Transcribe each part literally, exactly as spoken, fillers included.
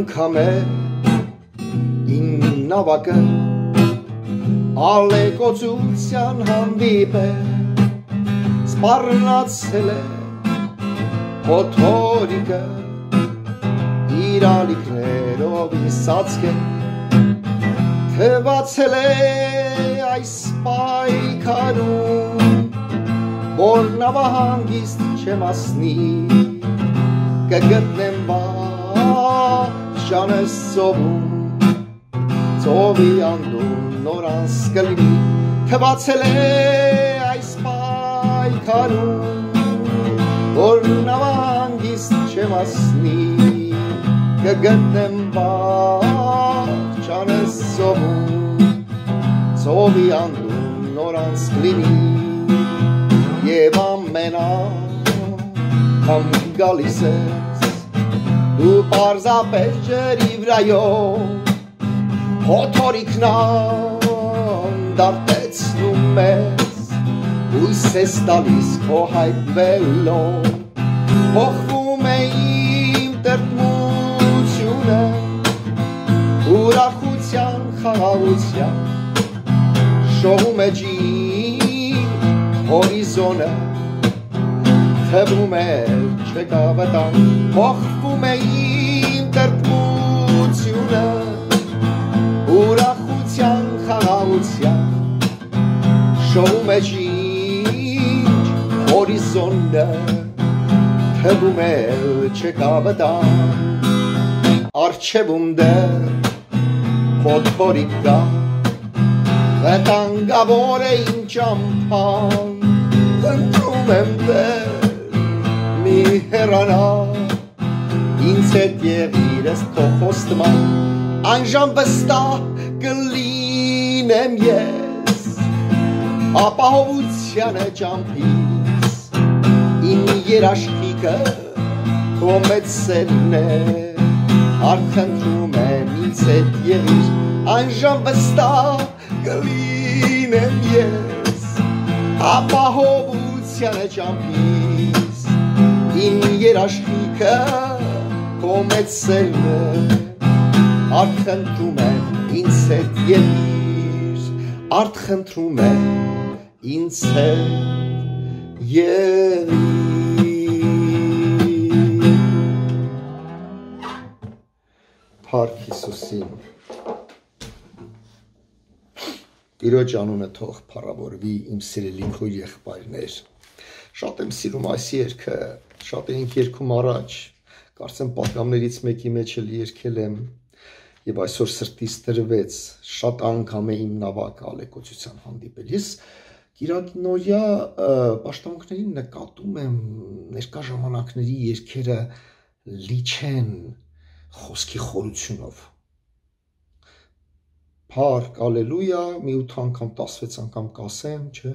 անգամ է իմ նավակը ալեկոծության հանդիպ է սպառնացել է փոթորիկը իր ալիքներով ինձ ծածկել թվացել է այս պայքարում որ նավահանգիստ չեմ ասնի կգտնեմ վախճանս ծովում ծովի անդուն նոր անց կլինի թվացել է այս պայքարում որ նավահանգիստ չեմ ասնի կգտնեմ վախճանս ծովում ծովի անդուն նոր անց կլինի Եվ ամեն անգամ գալիս ես դու պարզապես ջրի վրայով փոթորիկն անդարտեցնում ես հույս ես տալիս քո հայտնվելով փոխվում է իմ տրտմությունը ուրախության խաղաղության շողում է ջին Հորիզոնը թվում է չկա վտանգ փոխվում է իմ տրտմությունը ուրախության խաղաղության շողում է ջինջ հորիզոնը թվում է չկա վտանգ առջևում դեռ փոթորիկ կա վտանգավոր է իմ ճամփան Խնդրում եմ դեր մի հեռանա ինձ հետ եղիր ես քո խոստման անժամ վստահ կլինեմ ես ապահովության է ճամփից իմ երաշխիքը քո մեծ սերն է արքնտրում եմ ինձ հետ եղիր անժամ վստահ կլինեմ ես ապահովության է ճամփից իմ երաշխիքը քո մեծ սերն է արքնտրում եմ ինձ հետ եղիր արքնտրում եմ ինձ հետ եղիր Փառք Հիսուսին Տիրոջ անունը թող փառավորվի իմ սիրելի քույր եղբայրներ Շատ եմ սիրում այս երգը շատ էինք երգում առաջ կարծեմ պատգամներից մեկի մեջ էլ երգել եմ եւ այսօր սրտից տրվեց շատ անգամ է իմ նավակը ալեկոծության հանդիպել ես Կիրակնորյա պաշտամունքներին նկատում եմ ներկա ժամանակների երգերը լի չեն խոսքի խորությունով Փառք, ալելույա, մի ութ անգամ, տասվեց անգամ կասեմ, չէ,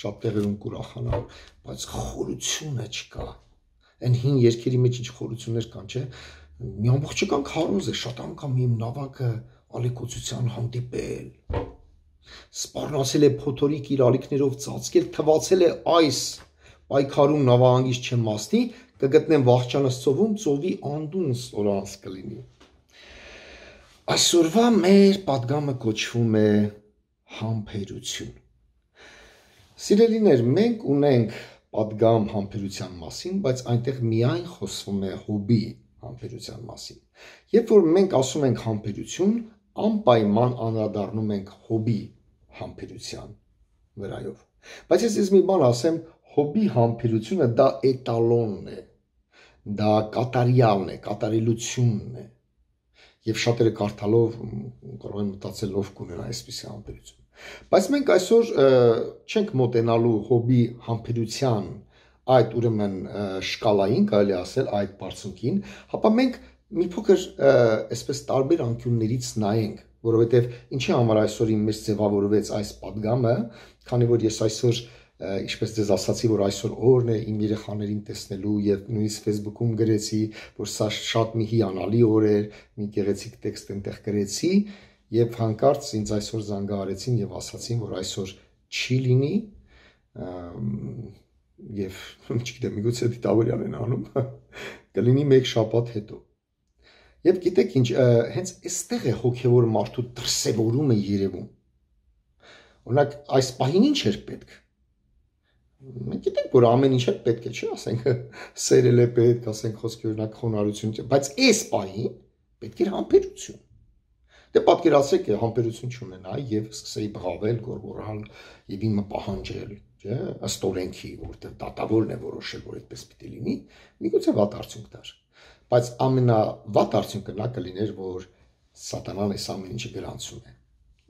շատ տեղերում կուրախանալ, բայց խորությունը չկա, այն հին երգերի մեջ ինչ խորություններ կան, չէ, մի ամբողջական քարոզ է, շատ անգամ իմ նավակը ալեկոծության հանդիպել, սպառնացել է փոթորիկ իր ալիքներով ծածկել, թվացել է այս պայքարում նավահանգիստ չեմ ասնի, կգտնեմ վախճանս ծովում, ծովի անդուն նոր անց կլինի Այսօրվա մեր պատգամը կոչվում է համբերություն Սիրելիներ, մենք ունենք պատգամ համբերության մասին, բայց այնտեղ միայն խոսվում է հոբի համբերության մասին Երբ որ մենք ասում ենք համբերություն, անպայման անդրադառնում ենք հոբի համբերության վրայով Բայց ես ես մի բան ասեմ, հոբի համբերությունը դա էտալոնն է, դա կատարյալն է, կատարելությունն է Եվ շատերը կարդալով կարող են մտածել ով կունենա այսպիսի համբերություն Բայց մենք այսօր չենք մոտենալու հոբի համբերության այդ ուրեմն շկալային կարելի ասել այդ բարձունքին, հապա մենք մի փոքր այսպես տարբեր անկյուններից նայենք, որովհետև ինչի համար այսօր իմ մեջ ձևավորվեց այս պատգամը, քանի որ ես այսօր Ինչպես ձեզ ասացի, որ այսօր օրն է իմ երեխաներին տեսնելու եւ նույնիսկ Facebook-ում գրեցի, որ սա շատ մի հիանալի օր էր, մի գեղեցիկ տեքստ այնտեղ գրեցի եւ հանկարծ ինձ այսօր զանգահարեցին եւ ասացին, որ այսօր չի լինի եւ չգիտեմ, միգուցե դիտավորյան են անում, կլինի մեկ շաբաթ հետո։ Եվ գիտեք ինչ, հենց այստեղ է հոգևոր մարդու դրսևորումը երևում։ Օրինակ, այս պահին ինչ էր պետք։ Մենք գիտենք, որ ամեն ինչ է պետք է, չէ՞, ասենք սերել է պետք, ասենք խոսքի օրինակ խոնարհություն, բայց այս պահին պետք էր համբերություն։ Դե պատկերացրեք, համբերություն չունենա եւ սկսեի բղավել, գոռգոռալ եւ իմը պահանջել, չէ՞, ըստ օրենքի, որտեղ դատավորն է որոշել, որ այդպես պիտի լինի, միգուցե վատ արդյունք տար։ Բայց ամենավատ արդյունքը նա կլիներ, որ սատանան այս ամեն ինչը գրանցում է։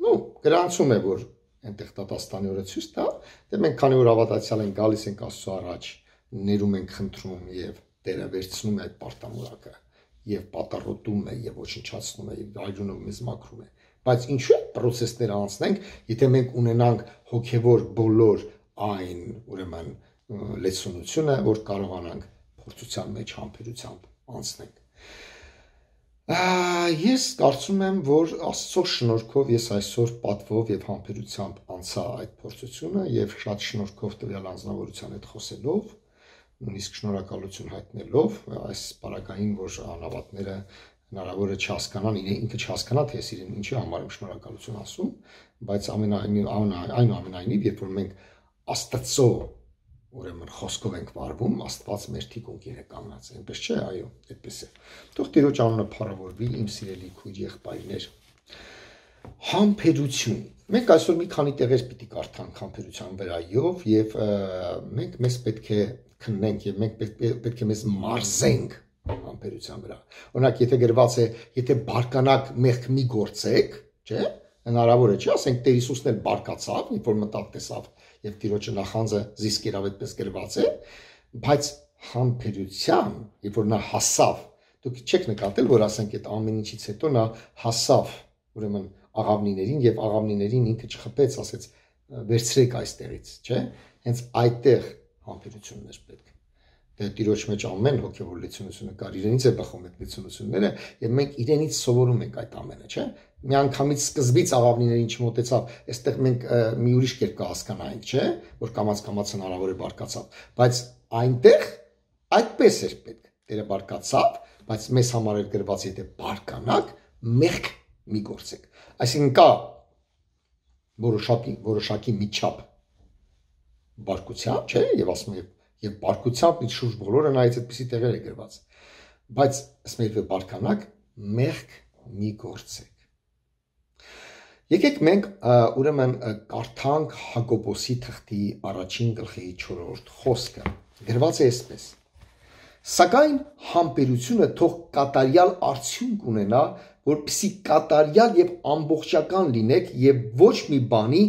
Ну, գրանցում է, որ այնտեղ դատաստանի օրը ցույց տա, դե մենք քանի որ հավատացյալ ենք, գալիս ենք Աստծո առաջ, ներում ենք խնդրում եւ Տերը վերցնում է այդ պարտամուրակը եւ պատառոտում է եւ ոչնչացնում է եւ այրունով մեզ մաքրում է։ Բայց ինչու՞ process-ները անցնենք, եթե մենք ունենանք հոգեվոր բոլոր այն, ուրեմն լեցունությունը, որ կարողանանք փորձության մեջ համբերությամբ անցնենք։ Ես կարծում եմ, որ Աստծո շնորհքով ես այսօր պատվով եւ համբերությամբ անցա այդ փորձությունը եւ շատ շնորհքով տվյալ անձնավորության հետ խոսելով, նույնիսկ շնորհակալություն հայտնելով այս բարակային, որ անավատները հնարավոր է չհասկանան, ինքը չհասկանա, թե ես իրեն ինչի համար եմ շնորհակալություն ասում, բայց այնուամենայնիվ, երբ որ մենք Աստծո ուրեմն խոսքով ենք վարվում, Աստված մեր թիկունքին է կանգնած, այնպես չէ, այո, այդպես է։ Թող Տիրոջ անունը փառավորվի, իմ սիրելի քույր եղբայրներ։ Համբերություն։ Մենք այսօր մի քանի տեղեր պիտի կարդանք համբերության վրայով եւ մենք մեզ պետք է քննենք եւ մենք պետք է մեզ մարզենք համբերության վրա։ Օրինակ, եթե գրված է, եթե բարկանաք մեղք մի գործեք, չէ՞, հնարավոր է, չէ՞, ասենք Տեր Հիսուսն էլ բարկացավ, երբ որ մտավ տեսավ եւ Տիրոջը նախանձը զիսկ երավ այդպես գրված է, բայց համբերության, երբ որ նա հասավ, դուք չեք նկատել, որ ասենք այդ ամեն ինչից հետո նա հասավ, ուրեմն աղավնիներին եւ աղավնիներին ինքը չխփեց, ասեց վերցրեք այստեղից, չէ՞, հենց այդտեղ համբերությունն էր պետք։ Դե Տիրոջ մեջ ամեն հոգևոր լեցունությունը կար, իրենից է բխում այդ լեցունությունները եւ մենք իրենից սովորում ենք այդ ամենը, չէ՞։ Միանգամից սկզբից աղավնիներին չմոտեցավ, այստեղ մենք մի ուրիշ կերպ կհասկանայինք, չէ՞, որ կամաց-կամաց հնարավոր է բարկացավ, բայց այնտեղ այդպես էր պետք։ Տերը բարկացավ, բայց մեզ համար էր գրված, եթե բարկանաք, մեղք մի գործեք։ Այսինքն կա որոշակի որոշակի միջապ բարկության, չէ՞, եւ ասում եմ եւ բարկությամբ իր շուրջ բոլորը նայեց այդպիսի տեղեր է գրված, բայց ասում եմ բարկանաք, մեղք մի գործեք։ Եկեք մենք ուրեմն կարդանք Հակոբոսի թղթի առաջին գլխի չորրորդ խոսքը։ Գրված է այսպես. Սակայն համբերությունը թող կատարյալ արդյունք ունենա, որպեսզի կատարյալ եւ ամբողջական լինեք եւ ոչ մի բանի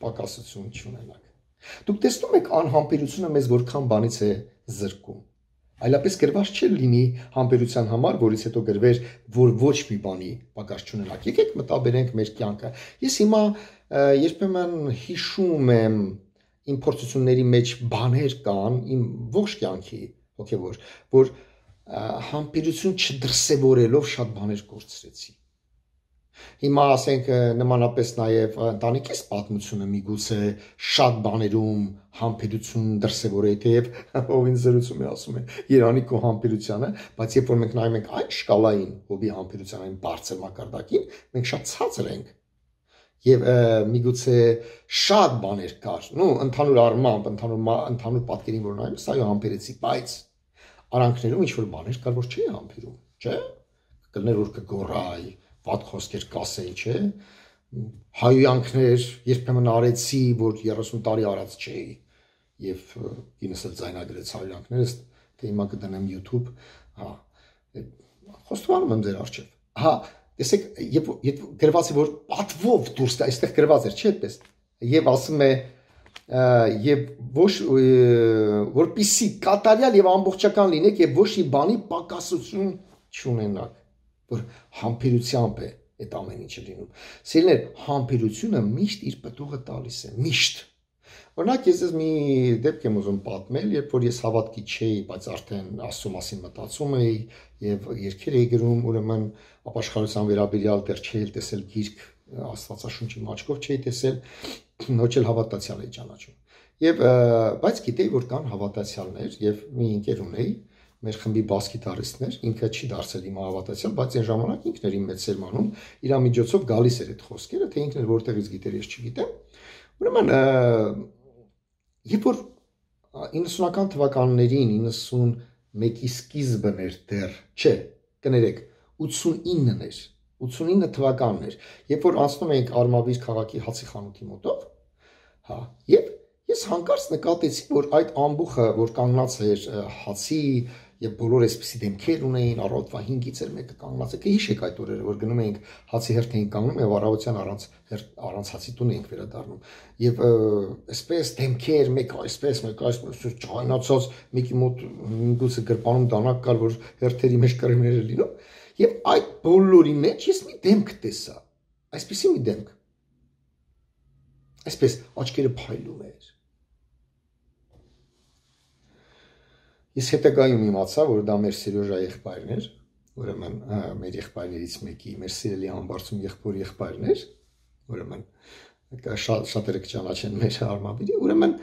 պակասություն չունենաք։ Դուք տեսնում եք անհամբերությունը մեզ որքան բանից է զրկում։ Այլապես գրված չէ լինի համբերության համար, որից հետո գրվեր, որ ոչ մի բանի պակաս չունենաք։ Եկեք մտաբերենք մեր կյանքը։ Ես հիմա երբեմն հիշում եմ իմ փորձությունների մեջ բաներ կան, իմ ողջ կյանքի հոգևոր, որ համբերություն չդրսևորելով շատ բաներ կորցրեցի։ Հիմա ասենք նմանապես նաև ընտանիքիս պատմությունը միգուցե շատ բաներում համբերություն դրսևորեի, թեև ով ինձ զրուցում է ասում է Երանի քո համբերությունը, բայց երբ որ մենք նայում ենք այն շկալային հոբի համբերության այն բարձր մակարդակին, մենք շատ ցածր ենք։ Եվ միգուցե շատ բաներ կար, նու ընդհանուր առմամբ, ընդհանուր ընդհանուր պատկերին որ նայում, այո համբերեցի, բայց արանքներում ինչ որ բաներ կար, որ չի համբերում, չէ՞։ Կլներ որ կգոռայի, վատ խոսքեր կասեի, չէ՞։ Հայոյանքներ երբեմն արեցի, որ երեսուն տարի արած չէի, եւ ինձ էլ ձայնագրեց հայոյանքներս, թե հիմա կդնեմ YouTube, հա։ Խոստովանում եմ ձեր առջև։ Հա, տեսեք, երբ գրված է որ պատվով դուրս գա, այստեղ գրված էր, չէ՞ այդպես։ Եվ ասում է եւ ոչ որպիսի կատարյալ եւ ամբողջական լինեք եւ ոչ մի բանի պակասություն չունենաք, որ համբերությամբ է այդ ամեն ինչը լինում։ Սիրելիներ, համբերությունը միշտ իր պտուղը տալիս է, միշտ։ Օրինակ ես ես մի դեպք եմ ուզում պատմել, երբ որ ես հավատքի չէի, բայց արդեն Աստծո մասին մտածում էի եւ երգեր էի գրում, ուրեմն ապաշխարության վերաբերյալ դեռ չէի տեսել գիրք, Աստվածաշունչի մաչկով չէի տեսել, ոչ էլ հավատացյալ էի ճանաչում։ Եվ բայց գիտեի, որ կան հավատացյալներ եւ մի ընկեր ունեի, մեր խմբի բաս գիտարիստներ, ինքը չի դարձել իմ հավատացյալ, բայց այն ժամանակ ինքն էր իմ մեծ սերմանում, իր միջոցով գալիս էր այդ խոսքերը, թե ինքն էր որտեղից գիտեր, ես չգիտեմ։ Ուրեմն երբ որ իննսունական թվականներին իննսունմեկի սկիզբն էր դեռ, չէ, կներեք, ութսունինն էր, ութսունինը թվականն էր, երբ որ անցնում էինք Արմավիր քաղաքի հացի խանութի մոտով, հա, եւ ես հանկարծ նկատեցի, որ այդ ամբուխը, որ կանգնած էր հացի եւ բոլոր այսպիսի դեմքեր ունեին, առավոտվա հինգից էր մեկը կանգնած, եկե հիշեք այդ օրերը, որ գնում էինք հացի հերթ էինք կանգնում եւ առավոտյան առանց առանց հացի տուն էինք վերադառնում եւ այսպես դեմքեր, մեկ այսպես, մեկ այսպես ճայնացած, մեկի մոտ ինքուսը գրպանում դանակ կար, որ հերթերի մեջ կրեմներ էր լինում եւ այդ բոլորի մեջ ես մի դեմք տեսա, այսպիսի մի դեմք, այսպես աչքերը փայլում էր։ Ես հետագայում իմացա, որ դա մեր Սերոժա եղբայրն էր, ուրեմն մեր եղբայրներից մեկի, մեր սիրելի Համբարձում եղբոր եղբայրն էր, ուրեմն շատերը կճանաչեն մեր Արմավիրի, ուրեմն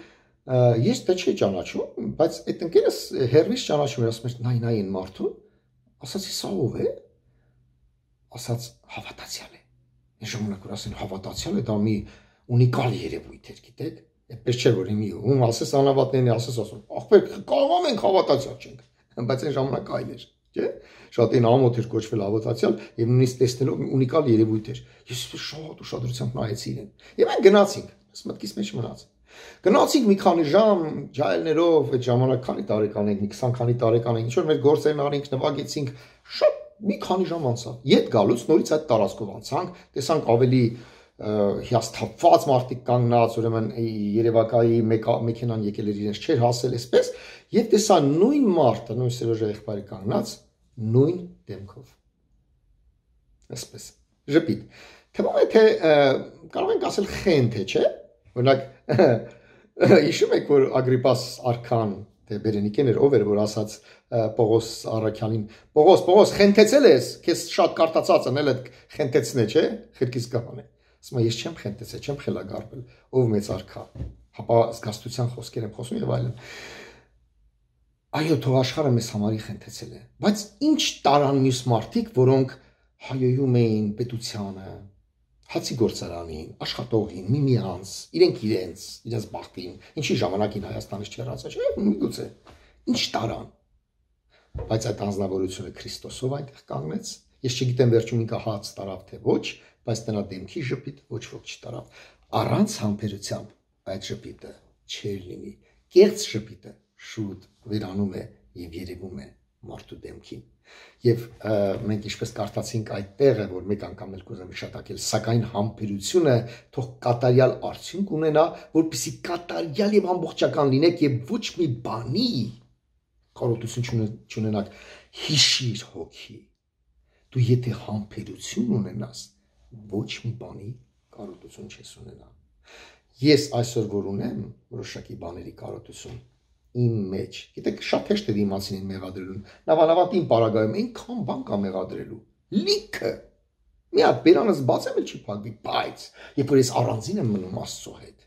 ես դա չի ճանաչում, բայց այդ ընկերս հերվից ճանաչում էր, ասում էր նայ նայ այն մարդուն, ասացի սա ով է, ասաց հավատացյալ է, այն ժամանակ որ ասեն հավատացյալ է, դա մի ունիկալ երևույթ էր, գիտեք, այդպես չէ որ իմի ում ասես անհավատներն ասես ասում, ախպեր կարող ենք հավատացյալ չենք, բայց այն ժամանակ այլ էր, չէ, շատին ամոթ էր կոչվել հավատացյալ եւ նույնիսկ տեսնելով ունիկալ երևույթ էր, ես շատ ուշադրությամբ նայեցի իրեն, եւ այն գնացինք, ես մտքիս մեջ մնաց, գնացինք մի քանի ժամ ջայլներով, այդ ժամանակ քանի տարեկան ենք, մի քսան քանի տարեկան ենք, ինչ որ մեր գործերն արինք, նվագեցինք, շատ մի քանի ժամ անցավ, ետ գալուց նորից այդ տարածքով անցանք, տեսանք ավելի հիասթափված մարդիկ կանգնած, ուրեմն Երևակայի մեքենան եկել էր իրենց չէր հասել, այսպես, եւ տեսա նույն մարդը, նույն Սերոժա եղբայրը կանգնած, նույն դեմքով, այսպես, ժպիտ, թվում է թե կարող ենք ասել խենթ է, չէ, օրինակ, հիշում եք, որ Ագրիպաս արքան, թե Բերենիկեն էր, ով էր, որ ասաց Պողոս Առաքյանին, Պողոս, Պողոս, խենթեցել ես, քեզ շատ կարտացած անել այդ խենթեցնե, չէ, խրկից կապան է, ասում ես չեմ խենթեցել, չեմ խելագարվել, ով մեծ արքա, հապա զգաստության խոսքեր եմ խոսում եւ այլն, այո, թող աշխարհը մեզ համարի խենթեցել է, բայց ինչ տարան մյուս մարդիկ, որոնք հայոյում էին պետությանը, հացի գործարանին, աշխատողին, միմյանց, իրենք իրենց, իրենց բախտին, ինչի ժամանակին Հայաստանից չհեռացա, չէ, միգուցե, ինչ տարան, բայց այդ անձնավորությունը Քրիստոսով այնտեղ կանգնեց, ես չգիտեմ վերջում ինքը հաց տարավ թե ոչ, բայց տնա դեմքի ժպիտ ոչ ոք չտարավ, առանց համբերությամբ այդ ժպիտը չեր լինի, կեղծ ժպիտը շուտ վերանում է եւ երևում է մարդու դեմքին։ Եվ մենք ինչպես կարդացինք այդ տեղը, որ մեկ անգամ էլ կուզեմ հիշատակել, սակայն համբերությունը թող կատարյալ արդյունք ունենա, որպեսզի կատարյալ եւ ամբողջական լինեք եւ ոչ մի բանի կարողություն չունենաք, հիշիր հոգի։ Դու եթե համբերություն ունենաս, ոչ մի բանի կարողություն չես ունենա։ Ես այսօր որ ունեմ որոշակի բաների կարողություն իմ մեջ, գիտեք, շատ հեշտ է դիմացին մեղադրելուն, նավանավատին պարագայում այնքան բան կա մեղադրելու, լիքը, մի հատ բերանս բացեմ էլ չի փակվի, բայց երբ որ ես առանձին եմ մնում Աստծո հետ,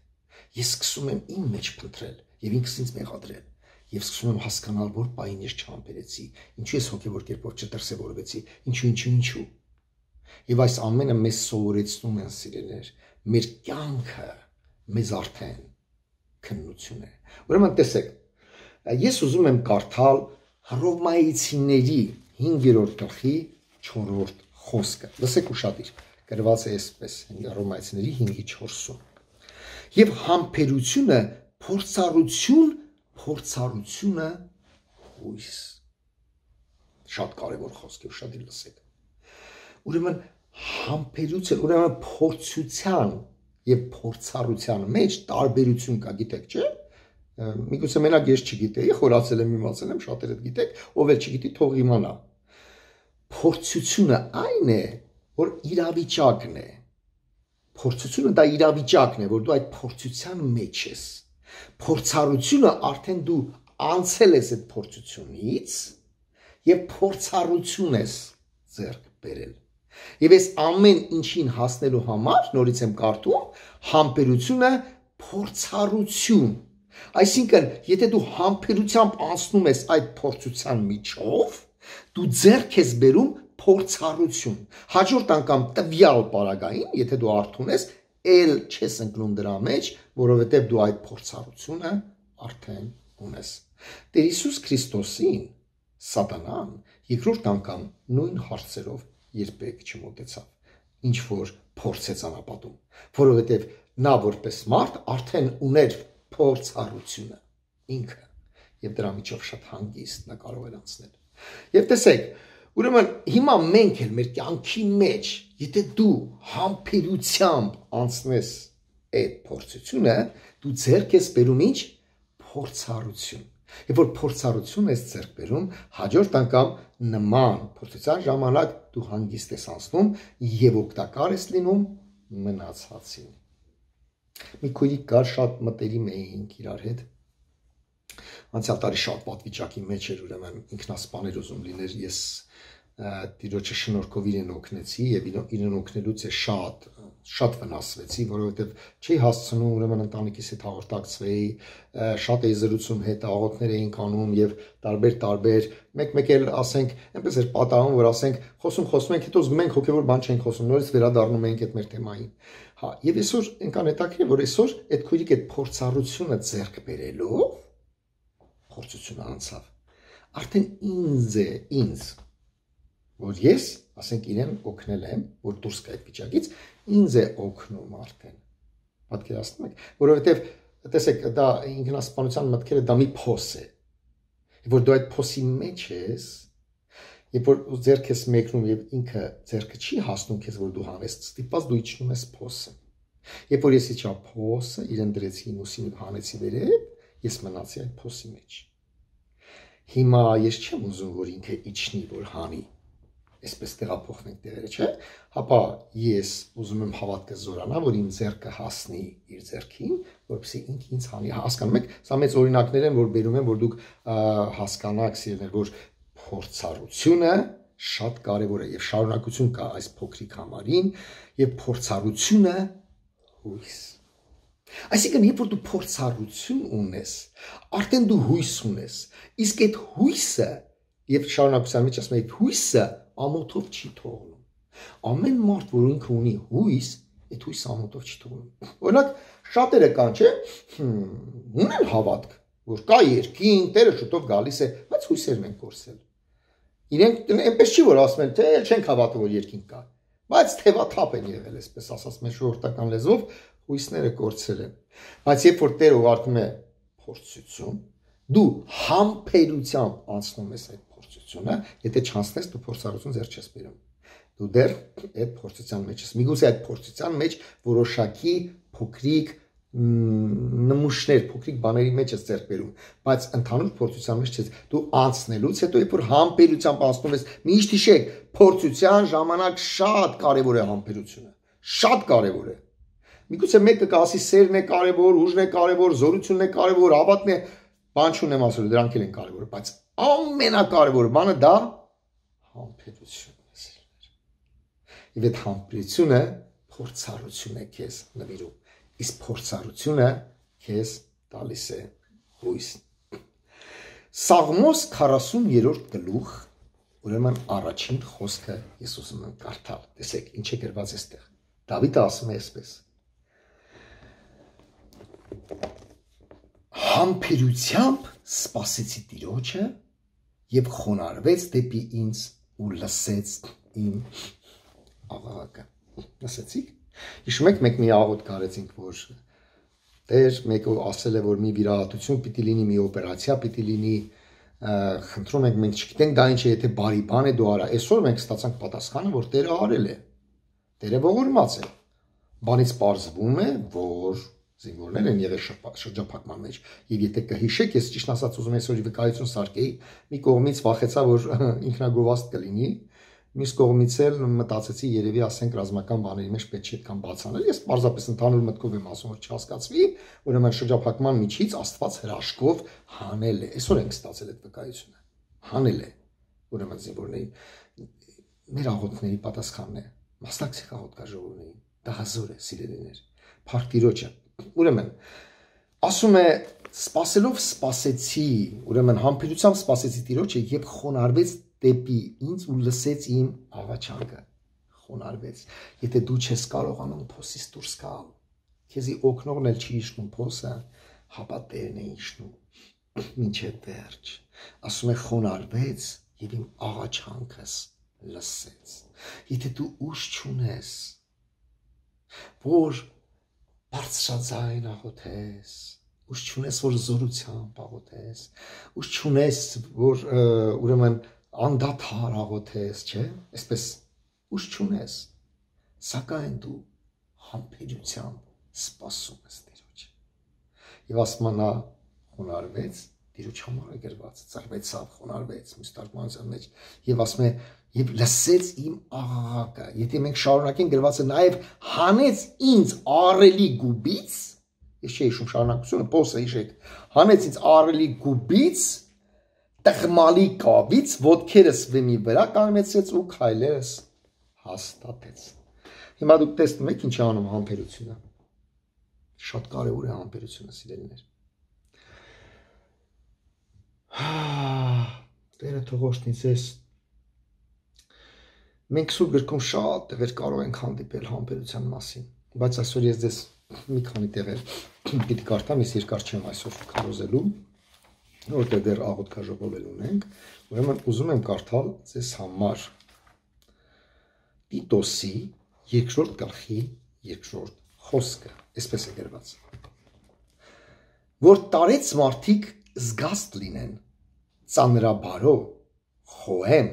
ես սկսում եմ իմ մեջ փնտրել եւ ինքս ինձ մեղադրել եւ սկսում եմ հասկանալ, որ պայն ես չհամբերեցի, ինչու ես հոգեվոր կերպով չդրսևորվեցի, ինչու, ինչու, ինչու։ Եվ այս ամենը մեզ սովորեցնում են սիրելիներ, մեր կյանքը մեզ արդեն քննություն է։ Ուրեմն տեսեք, ես ուզում եմ կարդալ Հռոմայեցիների հինգերորդ գլխի չորրորդ խոսքը։ Լսեք ուշադիր, գրված է այսպես Հռոմայեցիների հինգի չորսում։ Եվ համբերությունը փորձառություն, փորձառությունը հույս։ Շատ կարևոր խոսք է, ուշադիր լսեք։ Ուրեմն համբերություն, ուրեմն փորձության եւ փորձառության մեջ տարբերություն կա, գիտեք, չէ՞։ Միգուցե մենակ ես չգիտեի, խորացել եմ, իմացել եմ, շատերը գիտեք, ով էլ չգիտի, թող իմանա։ Փորձությունը այն է, որ իրավիճակն է։ Փորձությունը դա իրավիճակն է, որ դու այդ փորձության մեջ ես։ Փորձառությունը արդեն դու անցել ես այդ փորձությունից եւ փորձառություն ես ձեռք բերել։ Եվ այս ամեն ինչին հասնելու համար, նորից եմ կարդում, համբերությունը փորձառություն։ Այսինքն, եթե դու համբերությամբ անցնում ես այդ փորձության միջով, դու ձեռք ես բերում փորձառություն։ Հաջորդ անգամ տվյալ պարագային, եթե դու արթուն ես, ել չես ընկնում դրա մեջ, որովհետև դու այդ փորձառությունը արդեն ունես։ Տեր Հիսուս Քրիստոսին Սատանան երկրորդ անգամ նույն հարցերով երբեք չմոտեցավ, ինչ որ փորձեց անապատում, որովհետև նա որպես մարդ արդեն ուներ փորձառությունը ինքը եւ դրա միջով շատ հանգիստ նա կարող էր անցնել։ Եվ տեսեք, ուրեմն հիմա մենք էլ մեր կյանքի մեջ, եթե դու համբերությամբ անցնես այդ փորձությունը, դու ձեռք ես բերում ինչ փորձառություն։ Եվ որ փորձառություն ես ձեռք բերում, հաջորդ անգամ նման փորձության ժամանակ դու հանգիստ ես անցնում եւ օգտակար ես լինում մնացածին։ Մի քույրիկ կար, շատ մտերիմ էինք իրար հետ։ Անցյալ տարի շատ պատվիճակի մեջ էր, ուրեմն ինքնասպաներ ուզում լիներ, ես Տիրոջը շնորհքով իրեն օգնեցի եւ իրեն օգնելուց է շատ շատ վնասվեցի, որովհետեւ չի հասցնում ուրեմն ընտանիքիս հետ հաղորդակցվեի, շատ էի զրուցում հետ, աղոթներ էինք անում եւ տարբեր տարբեր, մեկ-մեկ էլ ասենք, այնպես էր պատահում, որ ասենք, խոսում խոսում ենք, հետո զգում ենք հոգեոր բան չենք խոսում, նորից վերադառնում ենք այդ մեր թեմային։ Հա, եւ այսօր այնքան հետաքրքիր, որ այսօր այդ քույրիկ այդ փորձառությունը ձեռք բերելով փորձությունը անցավ։ Արդեն ինձ է, ինձ որ ես, ասենք իրեն օգնել եմ, որ դուրս գա այդ վիճակից, ինձ է օգնում արդեն։ Պատկերացնում եք, որովհետև տեսեք, դա ինքնասպանության մտքերը դա մի փոս է։ Եվ որ դու այդ փոսի մեջ ես, երբ որ ձեռք ես մեկնում եւ ինքը ձեռքը չի հասնում քեզ, որ դու հանես, ստիպված դու իջնում ես փոսը։ Երբ որ ես իջա փոսը, իրեն դրեցի ուսին հանեցի վերև, ես մնացի այդ փոսի մեջ։ Հիմա ես չեմ ուզում, որ ինքը իջնի, որ հանի։ Այսպես տեղափոխվենք տեղերը, չէ՞։ Հապա ես ուզում եմ հավատքը զորանա, որ իմ ձեռքը հասնի իր ձեռքին, որպեսզի ինքը ինձ հանի։ Հասկանում եք, սա մեծ օրինակներ են, որ բերում են, որ դուք հասկանաք, սիրելիներ, որ փորձառությունը շատ կարևոր է եւ շարունակություն կա այս փոքրիկ համարին եւ փորձառությունը հույս։ Այսինքն, երբ որ դու փորձառություն ունես, արդեն դու հույս ունես, իսկ այդ հույսը եւ շարունակության մեջ ասում եմ, այդ հույսը ամոթով չի թողնում։ Ամեն մարդ, որ ինքը ունի հույս, այդ հույսը ամոթով չի թողնում։ Օրինակ, շատերը կան, չէ՞, ունեն հավատք, որ կա երկինք, Տերը շուտով գալիս է, բայց հույսերն են կորսել։ Իրենք այնպես չի, որ ասում են, թե չենք հավատում, որ երկինք կա, բայց թևաթափ են եղել, այսպես ասած, մեր ժողովրդական լեզվով հույսները կորցել են։ Բայց երբ որ Տերը ուղարկում է փորձություն, դու համբերությամբ անցնում ես այդ փորձությունը, եթե չանցնես, դու փորձառություն ձեռք չես բերում։ Դու դեռ այդ փորձության մեջ ես։ Միգուցե այդ փորձության մեջ որոշակի փոքրիկ նմուշներ, փոքրիկ բաների մեջ ես ձեռք բերում, բայց ընդհանուր փորձության մեջ չես։ Դու անցնելուց հետո երբ որ համբերությամբ անցնում ես, միշտ հիշեք, փորձության ժամանակ շատ կարևոր է համբերությունը։ Շատ կարևոր է։ Միգուցե մեկը կասի սերն է կարևոր, ուժն է կարևոր, զորությունն է կարևոր, հավատն է, բան չունեմ ասել, դրանք էլ են կարևոր, բայց ամենակարևոր բանը դա համբերությունն է։ Եվ այդ համբերությունը փորձառություն է քեզ նվիրում, իսկ փորձառությունը քեզ տալիս է հույս։ Սաղմոս քառասուններորդ գլուխ, ուրեմն առաջին խոսքը ես ուզում եմ կարդալ։ Տեսեք, ինչ է գրված այստեղ։ Դավիթը ասում է այսպես. Համբերությամբ սպասեցի Տիրոջը եւ խոնարհվեց դեպի ինձ ու լսեց իմ աղաղակը։ Լսեցիք։ Հիշում եք, մենք մի աղոթք արեցինք, որ Տեր մեկը ասել է, որ մի վիրահատություն պիտի լինի, մի օպերացիա պիտի լինի, խնդրում ենք, մենք չգիտենք դա ինչ է, եթե բարի բան է դու արա։ Այսօր մենք ստացանք պատասխանը, որ Տերը արել է։ Տերը ողորմած է։ Բանից պարզվում է, որ զինվորներ են եղել շրջափակման մեջ։ Եվ եթե կհիշեք, ես ճիշտ ասած ուզում եմ այսօր վկայություն սարքեի, մի կողմից վախեցա, որ ինքնագովազդ կլինի, մյուս կողմից էլ մտածեցի, երևի ասենք ռազմական բաների մեջ պետք չէ այդքան բացանել։ Ես պարզապես ընդհանուր մտքով եմ ասում, որ չհասկացվի, ուրեմն շրջափակման միջից Աստված հրաշքով հանել է։ Այսօր ենք ստացել այդ վկայությունը։ Հանել է, ուրեմն զինվորներին։ Մեր աղոթքների պատասխանն է։ Մասնակցեք աղոթքաժողովներին։ Դա հազոր է, սիրելիներ։ Փառք Տիրոջը։ Ուրեմն ասում է Սպասելով սպասեցի, ուրեմն համբերությամբ սպասեցի Տիրոջը եւ խոնարհվեց դեպի ինձ ու լսեց իմ աղաչանքը։ Խոնարհվեց։ Եթե դու չես կարողանում փոսից դուրս գալ, քեզի օգնողն էլ չի իջնում փոսը, հապա Տերն է իջնում մինչև վերջ։ Ասում է խոնարհվեց եւ իմ աղաչանքս լսեց։ Եթե դու ուժ չունես, որ բարձրաձայն աղոթես, ուժ չունես, որ զորությամբ աղոթես, ուժ չունես, որ ուրեմն անդադար աղոթես, չէ՞, այսպես ուժ չունես, սակայն դու համբերությամբ սպասում ես Տիրոջը։ Եվ ասում նա խոնարհվեց, Տիրոջ համար է գրված, ծառվեցավ, խոնարհվեց, մյուս թարգմանության մեջ, եւ ասում է, եւ լսեց իմ աղաղակը։ Եթե մենք շարունակենք գրված է նաեւ հանեց ինձ աղռելի գուբից, ես չէի հիշում շարունակությունը, փոսը հիշեք, հանեց ինձ աղռելի գուբից, տղմալի կավից, ոտքերս վեմի վրա կանգնեցրեց ու քայլերս հաստատեց։ Հիմա դուք տեսնում եք ինչ է անում համբերությունը։ Շատ կարևոր է համբերությունը, սիրելիներ։ Տերը թող օգնի ձեզ։ Մենք Սուրբ գրքում շատ տեղեր կարող ենք հանդիպել համբերության մասին, բայց այսօր ես ձեզ մի քանի տեղեր պիտի կարդամ, ես երկար չեմ այսօր քարոզելու, որտեղ դեռ աղոթքաժողովել ունենք, ուրեմն ուզում եմ կարդալ ձեզ համար Տիտոսի երկրորդ գլխի երկրորդ խոսքը, այսպես է գրված. որ տարեց մարդիկ զգաստ լինեն, ծանրաբարո, խոհեմ,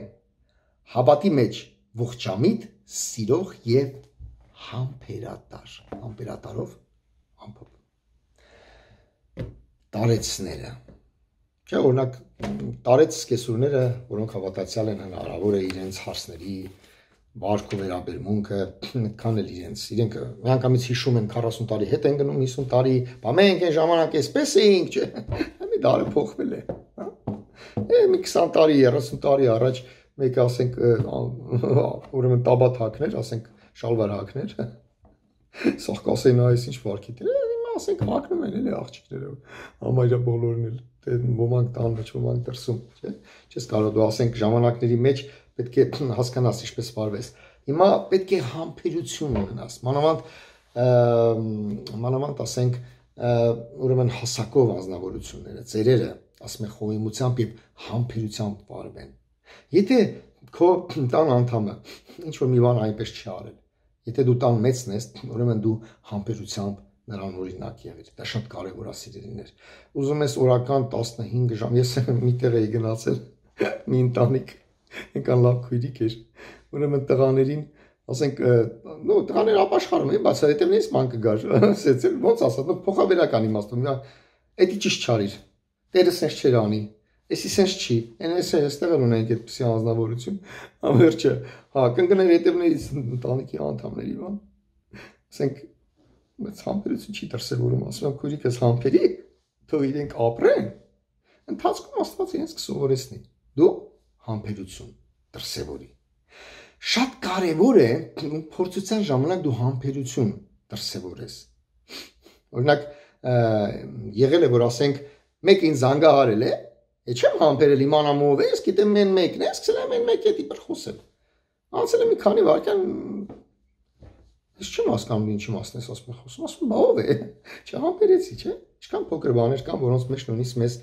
հավատի մեջ ողջամիտ, սիրող եւ համբերատար, համբերատարով ամփոփ։ Տարեցները, չէ, օրինակ տարեց սկեսուրները, որոնք հավատացյալ են, հնարավոր է իրենց հարցների վարք ու վերաբերմունքը այդքան էլ իրենց, իրենք միանգամից հիշում են քառասուն տարի հետ են գնում, հիսուն տարի, բա մենք այն ժամանակ էսպես էինք, չէ, մի դարը փոխվել է, հա։ Մի քսան տարի, երեսուն տարի առաջ մեկը ասենք ուրեմն տաբատ հակներ, ասենք շալվար հակներ, սաղ կասեին այս ինչ վարքի դեր, հիմա ասենք հակնում են էլի աղջիկները, համարյա բոլորն էլ, ոմանք տան մեջ, ոմանք դրսում, չէ, չես կարող դու ասենք ժամանակների մեջ պետք է հասկանաս ինչպես վարվես։ Հիմա պետք է համբերություն ունենաս, մանավանդ մանավանդ ասենք ուրեմն հասակով անձնավորությունները, ծերերը, ասում են խոհեմությամբ եւ համբերությամբ վարվեն։ Եթե քո տան անդամը ինչ որ մի բան այնպես չի արել, եթե դու տան մեծն ես, ուրեմն դու համբերությամբ նրան օրինակ եղիր։ Դա շատ կարևոր է, սիրելիներ։ Ուզում ես օրական տասնհինգ ժամ, ես միտեղ էի գնացել մի ընտանիք, այնքան լավ քույրիկ էր, ուրեմն տղաներին, ասենք, նո, տղաները ապաշխարում էին, բայց հետևներից ման կգար, ասեցել, ոնց ասած, փոխաբերական իմաստով, էդի ճիշտ չարիր, Տերը սենց չեր անի, էսի սենց չի, այն էս այստեղ էլ ունենք այդպիսի անձնավորություն, ամերջը, հա, կընկներ հետևներից ընտանիքի անդամների, բան, ասենք, բայց համբերություն չի դրսևորում, ասում եմ քույրիկս համբերի, թող իրենք ապրեն, ընթացքում Աստված իրենց կսովորեցնի, դու համբերություն դրսևորի։ Շատ կարևոր է փորձության ժամանակ դու համբերություն դրսևորես։ Օրինակ եղել է, որ ասենք մեկ ինձ զանգահարել է, է չեմ համբերել իմանամ ով է, ես գիտեմ մեն մեկն է, սկսել եմ մեն մեկ հետի բր խոսել։ Անցել եմ մի քանի վայրկյան, ես չեմ հասկանում ինչի մասն ես ասում խոսում, ասում բա ով է, չհամբերեցի, չէ՞։ Ինչքան փոքր բաներ կան, որոնց մեջ նույնիսկ մեզ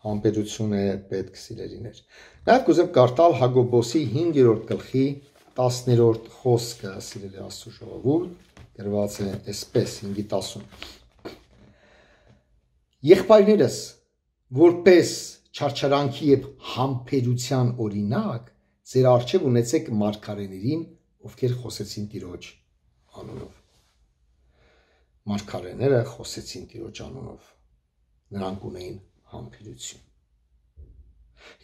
համբերություն է պետք, սիրելիներ։ Նաև կուզեմ կարդալ Հակոբոսի հինգերորդ գլխի տասներորդ խոսքը, սիրելի Աստծո ժողովուրդ, գրված է այսպես հինգի տասուն։ Եղբայրներս, որպես չարչարանքի եւ համբերության օրինակ, ձեր առջև ունեցեք մարգարեներին, ովքեր խոսեցին Տիրոջ անունով։ Մարգարեները խոսեցին Տիրոջ անունով։ Նրանք ունեին համբերություն։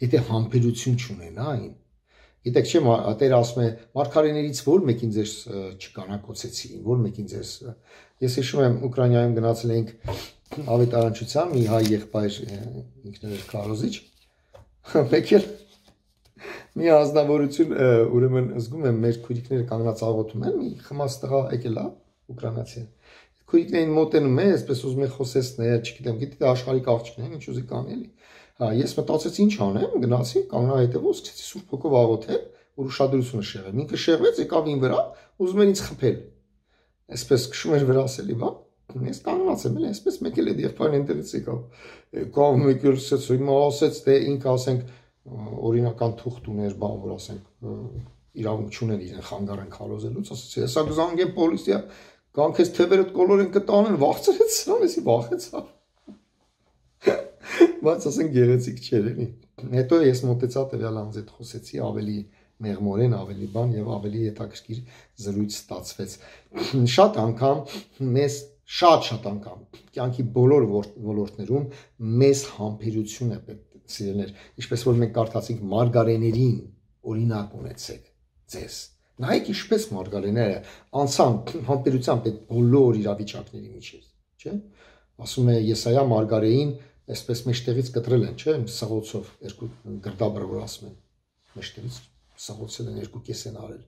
Եթե համբերություն չունենային, գիտեք չէ, Տերը ասում է, մարգարեներից որ մեկին ձեզ չկանակոծեցին, որ մեկին ձեզ, ես հիշում եմ Ուկրաինայում գնացել էինք ավետարանչության, մի հայ եղբայր ինքն էր քարոզիչ, մեկ էլ մի ազնվորություն, ուրեմն զգում եմ մեր քույրիկները կանգնած աղոթում են, մի խմած տղա եկել է ուկրաինացի, քույրիկներին մոտենում է, այսպես ուզում է խոսեցնել, չգիտեմ, գիտի դա աշխարհիկ աղջիկն է, ինչ ուզի կանի էլի։ Հա, ես մտածեցի ինչ անեմ, գնացի, կանգնա հետևով, սկսեցի Սուրբ Հոգով աղոթել, որ ուշադրությունը շեղեմ։ Ինքը շեղվեց, եկավ ին վրա, ուզում էր ինձ խփել։ Այսպես քշում էր վրաս էլի, բա։ Ես կանգնած եմ, էլի, այսպես մեկ էլ է եղբայրն այնտեղից եկավ։ Եկավ մեկ էլ ասեց, հիմա ասեց, թե ինքը ասենք օրինական թուղթ ուներ, բան որ ասենք իրավունք չուներ իրեն խանգարեն քարոզելուց, ասեց, հեսա կզանգեմ պոլիցիա, կան քեզ թևերդ կոլորեն կտանեն, վախցրեց սրան, էսի վախեցա։ Բայց ասենք գեղեցիկ չէր էլի։ Հետո ես մոտեցա տվյալ անձ հետ խոսեցի, ավելի մեղմորեն, ավելի բան եւ ավելի հետաքրքիր զրույց ստացվեց։ Շատ անգամ մեզ շատ-շատ անգամ կյանքի բոլոր ոլորտներում մեզ համբերություն է պետք սիրելներ, ինչպես որ մենք կարդացինք մարգարեներին օրինակ ունեցեք ձեզ։ Նայեք ինչպես մարգարեները անցան համբերությամբ այդ բոլոր իրավիճակների միջև, չէ՞։ Ասում է Եսայա մարգարեին այսպես մեջտեղից կտրել են, չէ՞, սաղոցով երկու գրդաբրը որ ասում են, մեջտեղից սաղոցել են երկու կես են արել։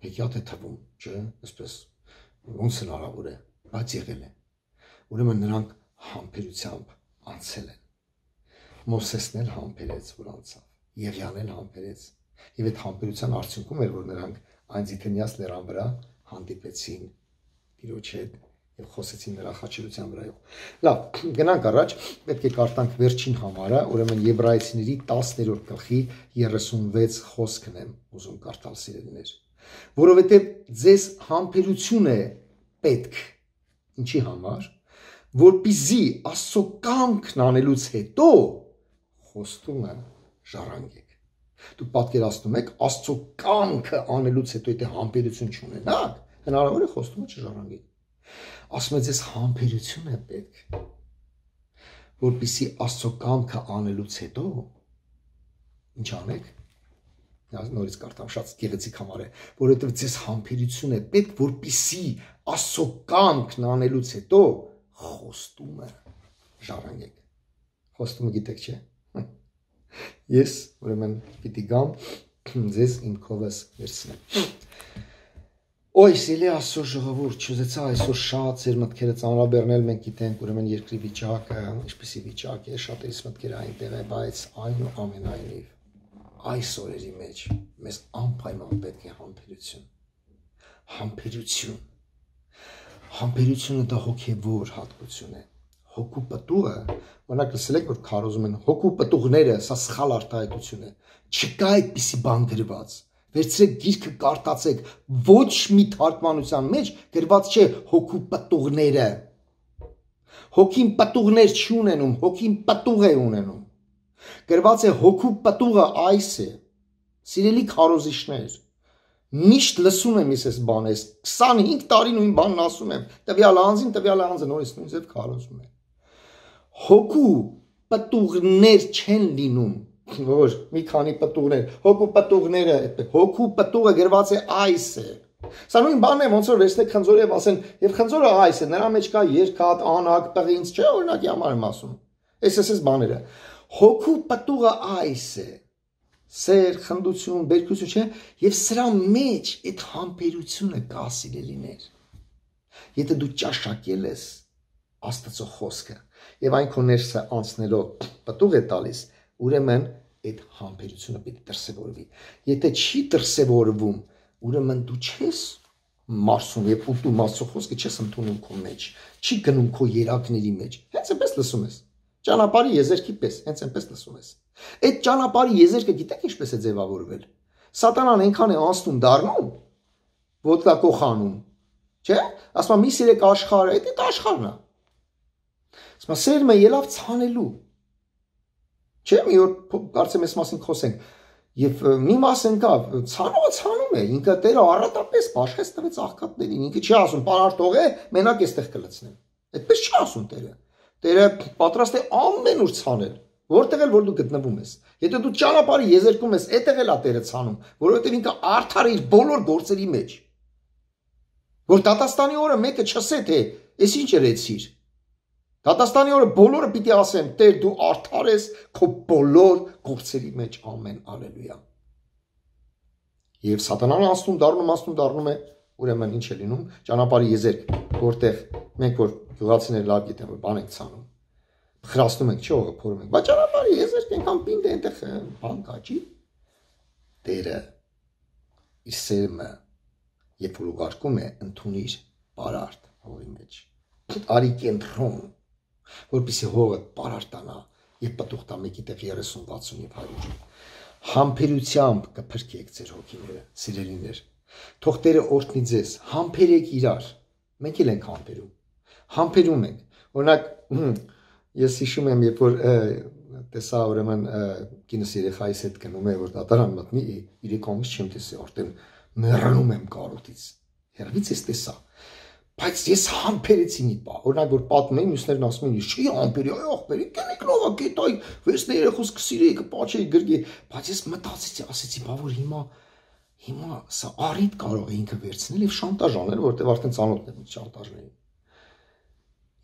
Հեքիաթ է թվում, չէ՞, այսպես ոնց հնարավոր է, բայց եղել է։ Ուրեմն նրանք համբերությամբ անցել են։ Մովսեսն էլ համբերեց, որ անցավ, Եղիան էլ համբերեց, եւ այդ համբերության արդյունքում էր, որ նրանք Այնձիթնյաս լեռան վրա հանդիպեցին Տիրոջ հետ եւ խոսեցին նրա խաչելության վրայով։ Լավ, գնանք առաջ, պետք է կարդանք վերջին համարը, ուրեմն Եբրայեցիների տասներորդ գլխի երեսունվեց խոսքն եմ ուզում կարդալ սիրելիներ, որովհետեւ ձեզ համբերություն է պետք, ինչի համար, որպեսզի Աստծո կամքն անելուց հետո խոստումը ժառանգեք։ Դուք պատկերացնում եք Աստծո կամքը անելուց հետո եթե համբերություն չունենաք, հնարավոր է խոստումը չժառանգեք։ Ասում է ձեզ համբերություն է պետք, որպեսզի Աստծո կամքը անելուց հետո ինչ անեք։ Նորից կարդամ, շատ գեղեցիկ համար է, որովհետև ձեզ համբերություն է պետք, որպեսզի Աստծո կամքն անելուց հետո խոստումը ժառանգեք։ Խոստումը գիտեք, չէ՞։ Ես ուրեմն պիտի գամ ձեզ իմ քովս վերցնեմ։ Ոյ սիրելի Աստծո ժողովուրդ, չուզեցա այսօր շատ ձեր մտքերը ծանրաբեռնել, մենք գիտենք ուրեմն երկրի վիճակը, ինչպեսի վիճակ է, շատերիս մտքերը այնտեղ է, բայց այնուամենայնիվ այս օրերի մեջ մեզ անպայման պետք է համբերություն։ Համբերություն։ Համբերությունը դա հոգևոր հատկություն է։ Հոգու պտուղը, օրինակ լսել եք, որ քարոզում են հոգու պտուղները, սա սխալ արտահայտություն է։ Չկա այդպիսի բան գրված։ Վերցրեք գիրքը կարդացեք, ոչ մի թարգմանության մեջ գրված չէ հոգու պտուղները։ Հոգին պտուղներ չի ունենում, հոգին պտուղ է ունենում։ Գրված է հոգու պտուղը այս է։ Սիրելի քարոզիչներ, միշտ լսում եմ ես այս բանը, քսանհինգ տարի նույն բանն ասում եմ, տվյալ անձին, տվյալ անձը նորից նույն ձև քարոզում է։ Հոգու պտուղներ չեն լինում, որ մի քանի պտուղներ, հոգու պտուղները, հոգու պտուղը գրված է այս է։ Սա նույն բանն է, ոնց որ վերցնեք խնձորը եւ ասեն, եւ խնձորը այս է, նրա մեջ կա երկաթ, անակ, պղինձ, չէ, օրինակի համար եմ ասում։ Այս էս բաները։ Հոգու պտուղը այս է։ Սեր, խնդություն, բերքություն, չէ, եւ սրա մեջ այդ համբերությունը կա սիրելիներ։ Եթե դու ճաշակել ես Աստծո խոսքը եւ այն քո ներսը անցնելով պտուղ է տալիս, ուրեմն այդ համբերությունը պետք է դրսևորվի։ Եթե չի դրսևորվում, ուրեմն դու չես մարսում եւ ուտում Աստծո խոսքը չես ընդունում քո մեջ, չի գնում քո երակների մեջ։ Հենց այնպես լսում ես։ Ճանապարհի եզերքի պես, հենց այնպես լսում ես։ Այդ ճանապարհի եզերքը գիտեք ինչպես է ձևավորվել։ Սատանան այնքան է անցնում դառնում, ոտկա կոխանում, չէ՞։ Ասում մի սիրեք աշխարհը, այդ աշխարհն է։ Ասում սերմը ելավ ցանելու։ Չէ՞ մի օր կարծեմ այս մասին խոսենք։ Եվ մի մաս ընկավ, ցանողը ցանում է, ինքը Տերը առատապես բաշխեց տվեց աղքատներին, ինքը չի ասում պարարտ թողե, մենակ էստեղ կլցնեմ։ Այդպես չի ասում Տերը։ Տերը պատրաստ է ամեն ուր ցանել, որտեղ էլ որ դու գտնվում ես։ Եթե դու ճանապարհի եզերքում ես, այդտեղ էլ է Տերը ցանում, որովհետև ինքը արդար է իր բոլոր գործերի մեջ։ Որ դատաստանի օրը մեկը չասե թե «Էս ինչ երեցիր»։ Դատաստանի օրը բոլորը պիտի ասեն, Տեր դու արդար ես քո բոլոր գործերի մեջ, ամեն, ալելույա։ Եվ սատանան անցնում, դառնում, անցնում, դառնում է ուրեմն ինչ է լինում, ճանապարհի եզերք, որտեղ մենք որ գյուղացիներ լավ գիտեն, որ բան ենք ցանում, խրաստում ենք, չի օղը փորում ենք, բայց ճանապարհի եզերք այնքան պինդ է այնտեղ բան կաճի, Տերը իր սերմը երբ որ ուղարկում է, ընդունիր պարարտ հողի մեջ, արի կենտրոն, որպեսզի հողը պարարտանա եւ պտուղ տա մեկի տեղ երեսուն, վաթսուն եւ հարյուր, համբերությամբ կփրկեք ձեր հոգիները, սիրելիներ, թող Տերը օրհնի ձեզ, համբերեք իրար, մենք էլ ենք համբերում, համբերում ենք, օրինակ, ես հիշում եմ, երբ որ տեսա ուրեմն կինս երեխայիս հետ գնում է, որ դատարան մտնի, երեք ամիս չեմ տեսել, արդեն մեռնում եմ կարոտից, հեռվից ես տեսա, բայց ես համբերեցի մի բան, օրինակ որ պատմում էին, մյուսներն ասում էին, չի համբերի, այ ախպերի, կենեք լավա կետ, այ վերցնե երեխուս կսիրեի, կպաչեի գրգի, բայց ես մտածեցի, ասեցի, բա որ հիմա, հիմա սա առիթ կարող է ինքը վերցնել եւ շանտաժ անել, որտեղ արդեն ծանոթ եմ շանտաժներին։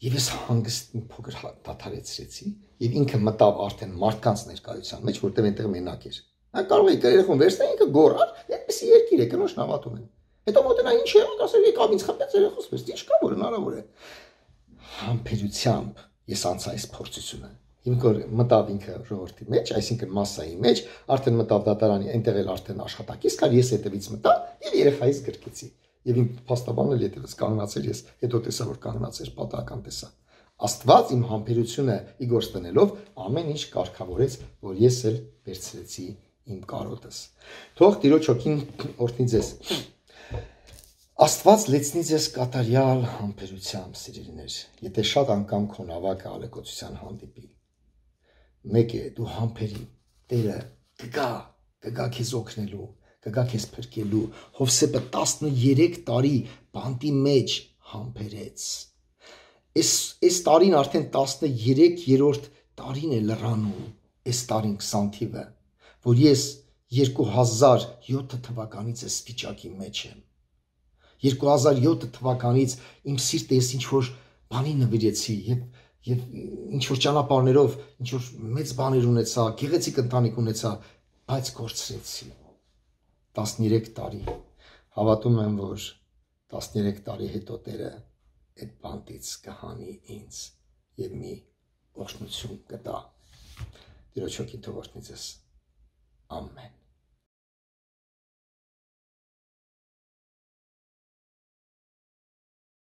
Եվ ես հանգիստ մի փոքր դադարեցրեցի եւ ինքը մտավ արդեն մարդկանց ներկայության մեջ, որտեղ այնտեղ մենակ էր։ Նա կարող է երեխուն վերցնել, ինքը գոռար, այդպեսի երկիր է, կնոջ նավատում են։ Հետո մոտենա ինչ է, ասել եկավ ինձ խփեց երեխուս պես, ինչ կա որ հնարավոր է։ Համբերությամբ ես անցա այս փորձությունը։ Հիմք որ մտավ ինքը ժողովրդի մեջ, այսինքն մասսայի մեջ, արդեն մտավ դատարանի, այնտեղ էլ արդեն աշխատակից կար, ես հետևից մտա եւ երեխայից գրկեցի։ Եվ իմ փաստաբանն էլ հետևից կանգնացել ես, հետո տեսա որ կանգնացել, պատահական տեսա։ Աստված իմ համբերությունը ի գործ դնելով ամեն ինչ կարգավորեց, որ ես էլ վերցրեցի իմ կարոտս։ Թող Տիրոջ հոգին օրհնի ձեզ։ Աստված լեցնի ձեզ կատարյալ համբերությամբ, սիրելիներ, եթե շատ անգամ քո նավակը ալեկոծության հանդիպի։ Մեկ է դու համբերի, Տերը կգա, կգա քեզ օգնելու, կգա քեզ փրկելու։ Հովսեփը տասներեք տարի բանտի մեջ համբերեց։ Այս այս տարին արդեն տասներեքերորդ տարին է լրանում, այս տարին քսան թիվը, որ ես երկու հազար յոթ թվականից այս վիճակի մեջ եմ։ երկու հազար յոթ թվականից իմ սիրտը ես ինչ որ բանի նվիրեցի եւ եւ ինչ որ ճանապարհներով ինչ որ մեծ բաներ ունեցա, գեղեցիկ ընտանիք ունեցա, բայց կորցրեցի։ տասներեք տարի։ Հավատում եմ, որ տասներեք տարի հետո Տերը այդ բանտից կհանի ինձ եւ մի օրհնություն կտա։ Տիրոջ հոգին թող օրհնի ձեզ։ Ամեն։